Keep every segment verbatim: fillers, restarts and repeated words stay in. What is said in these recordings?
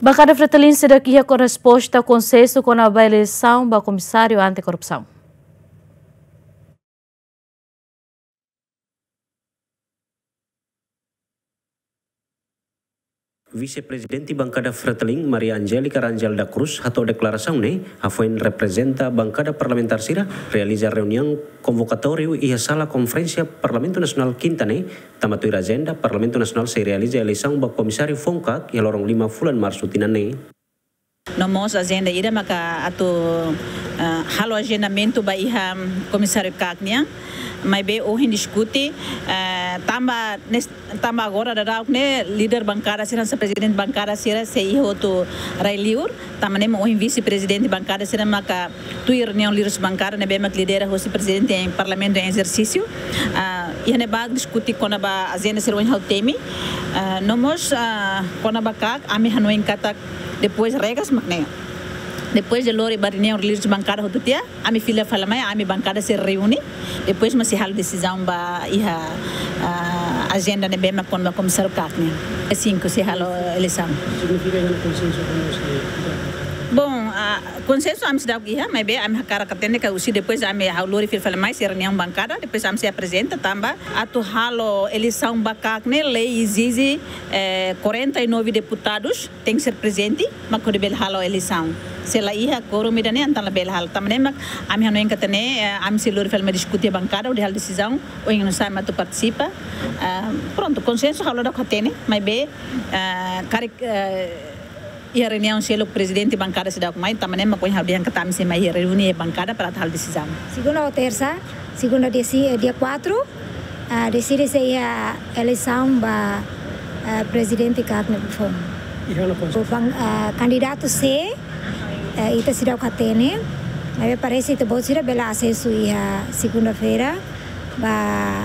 Bankada Fretilin seidauk iha resposta konsensu kona-ba eleisaun ba Komisáriu Anti-Korrupsaun. Vise-Prezidente Bankada Fretilin, Maria Angélica Rangel da Cruz, hato'o deklarasaun ne'e hafoin reprezenta bankada parlamentár sira realiza reuniaun konvokatóriu iha Sala Konferénsia Parlamentu Nasionál Kinta ne'e, tanba tuir ajenda Parlamentu Nasionál sei realiza eleisaun ba Komisáriu Foun-Kaak iha loron lima fulan Marsu tinan ne'e. No mós ajenda ida maka atu, eh, halo ajendamentu ba iha Komisáriu Kaak nian, maibé ohin diskute, eh, tanba nes-, tanba agora daudaun ne'e líder bankada sira, hanesan prezidente bankada sira sei iha hotu rai-liur, tanba ne'e mak ohin vise-prezidente bankada sira maka tuir reuniaun líderes bankada ne'ebé mak lidera hosi prezidente em Parlamentu em ezersísiu. Ah, iha ne'ebá diskute kona-ba ajenda sira ohin ha'u temi. Ah, no mós, ah, kona-ba Kaak, ami hanoin katak depois regras mak ne'e. Depois de lori ba reuniaun líderes bankada hotu tiha, ami fila fali mai, ami bankada sei reúne. Depois mak sei halo desizaun ba iha, ah, ajenda ne'ebé mak kona-ba Komisáriu Kaak ne'e. Dia cinco sei halo eleisaun. Signifika iha ona konsensu kona-ba... Bom, ah, konsensu ami seidauk iha, maibé ami hakarak hatene katak husi depois ami halo lori fila fali mai, sei reuniaun bankada, depois ami sei aprezenta tanba atu halo eleisaun ba Kaak ne'e lei ezije, eh, quarenta e nove deputadus tenke ser prezente, mak hodi bele halo eleisaun. Se la iha quórum ida-ne'e, entaun labele halo. Tanba ne'e mak ami hanoin katak ne'e, eh, ami sei lori fali mai diskute bankada, hodi halo desizaun, oinsá mak atu partisipa. Ah, prontu, konsensu ha'u la daudauk hatene, maibé, ah, karik, eh, iha reuniaun seluk prezidente bankada seidauk mai, tanba ne'e mak ohin ha'u dehan katak ami sei mai reúne bankada para atu halo desizaun. Segunda ou tersa, segunda dia si-, eh, dia quatro, ah, deside se iha eleisaun ba, ah, prezidente Kaak nia foun. Iha ona konsensu. Bang, ah, kandidatu sé, eh, ita seidauk hatene, maibé parese ita-boot sira bele asesu iha segunda-feira ba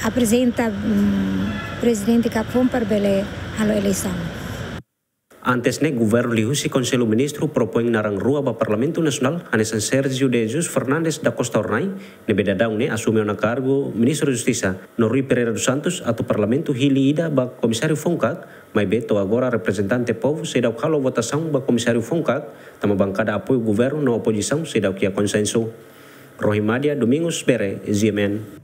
aprezenta, mm, prezidente Kaak foun para bele halo eleisaun. Antes ne'e, governu liuhusi Konsellu Ministru propoin naran rua ba Parlamentu Nasionál, hanesan Sérgio de Jesus Fernandes da Costa Hornai, ne'ebé daudaun ne'e asume ona kargu Ministru Justisa, no Rui Pereira dos Santos, atu Parlamentu hili ida ba Komisáriu Foun-Kaak, maibé to'o agora reprezentante povu seidauk halo votasaun ba Komisáriu Foun-Kaak, tanba bankada apoiu governu no opozisaun seidauk iha konsensu. Rohimadia Domingos Bere, G M N.